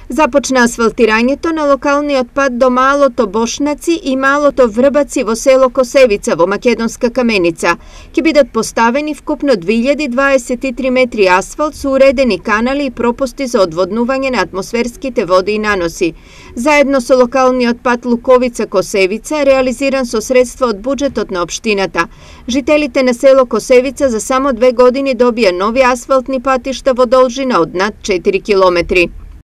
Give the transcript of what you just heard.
Започна асфалтирањето на локалниот пат до Малото Бошнаци и Малото Врбаци во село Косевица во Македонска Каменица. Ќе бидат поставени вкупно 2023 метри асфалт со уредени канали и пропусти за одводнување на атмосферските води и наноси. Заедно со локалниот пат Луковица-Косевица, реализиран со средства од буџетот на општината. Жителите на село Косевица за само 2 години добија нови асфалтни патишта во должина од над 4 километри.